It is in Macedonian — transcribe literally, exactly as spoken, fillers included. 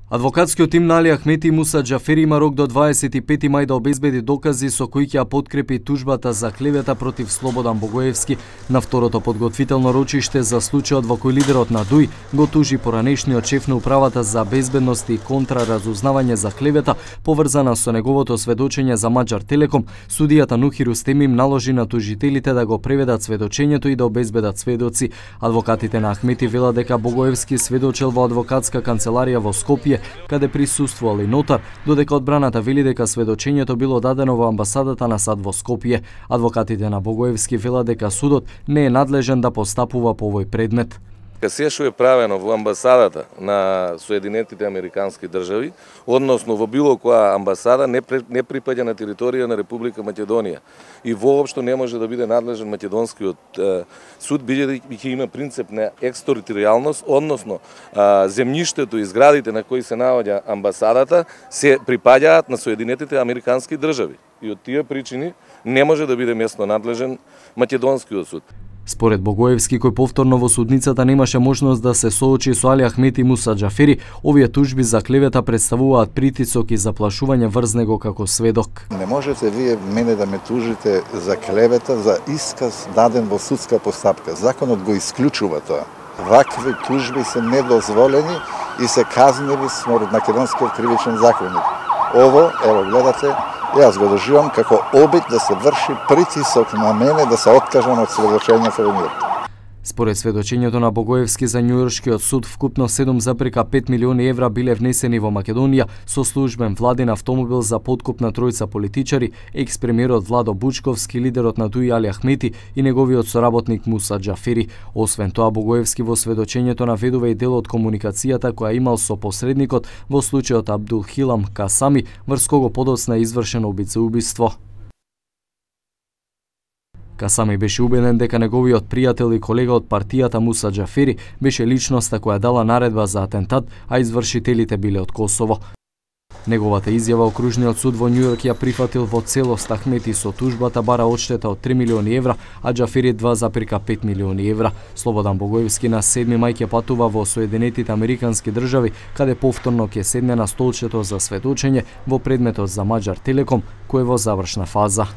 Адвокатскиот тим на Али Ахмети и Муса Џафери има рок до дваесет и пети мај да обезбеди докази со кои ќе ја подкрепи тужбата за клевета против Слободан Богоевски на второто подготвително рочиште за случајот во кој лидерот на ДУИ го тужи поранешниот шеф на управата за безбедност и контраразузнавање за клевета поврзана со неговото сведочење за Маџар Телеком. Судијата Нухи Рустеми им наложи на тужителите да го преведат сведочењето и да обезбедат сведоци. Адвокатите на Ахмети велат дека Богоевски сведочел во адвокатска канцеларија во Скопје, каде присуствувал и нотар, додека одбраната вели дека сведочењето било дадено во амбасадата на САД во Скопје. Адвокатите на Богоевски велат дека судот не е надлежен да постапува по овој предмет. Се што е правено во амбасадата на Соединетите Американски држави, односно во било која амбасада, не, не припаѓа на територија на Република Македонија и воопшто не може да биде надлежен македонскиот е, суд, бидејќи има принцип на екстериторијалност, односно е, земјиштето и зградите на кои се наоѓа амбасадата се припаѓаат на Соединетите Американски држави и од тие причини не може да биде местно надлежен македонскиот суд. Според Богоевски, кој повторно во судницата немаше можност да се соочи со Али Ахмети и Муса Џафери, овие тужби за клевета представуваат притисок и заплашување врз него како сведок. Не можете вие мене да ме тужите за клевета, за исказ даден во судска постапка. Законот го исклучува тоа. Вакви тужби се недозволени и се казневи според македонскиот кривичен законник. Ово, ево гледате, јас го доживам како обид да се врши притисок на мене да се откажам од сведочењето во мир. Според сведочењето на Богоевски за Њујоршкиот суд, вкупно седум зарез пет милиони евра биле внесени во Македонија со службен владин автомобил за подкуп на тројца политичари, екс-премиерот Владо Бучковски, лидерот на ДУИ Али Ахмети и неговиот соработник Муса Џафери. Освен тоа, Богоевски во сведочењето наведува и дел од комуникацијата која имал со посредникот во случајот Абдулхилам Касами, врз кого подоцна е извршено убица-убиство. Касами беше убеден дека неговиот пријател и колега од партијата Муса Џафери беше личноста која дала наредба за атентат, а извршителите биле од Косово. Неговата изјава окружниот суд во Њујорк ја прифатил во целост. Ахмети со тужбата бара одштета од три милиони евра, а Џафери два зарез пет милиони евра. Слободан Богоевски на седми мај ќе патува во Соединетите Американски држави, каде повторно ќе седне на столчето за сведочење во предметот за Маџар Телеком, кој е во завршна фаза.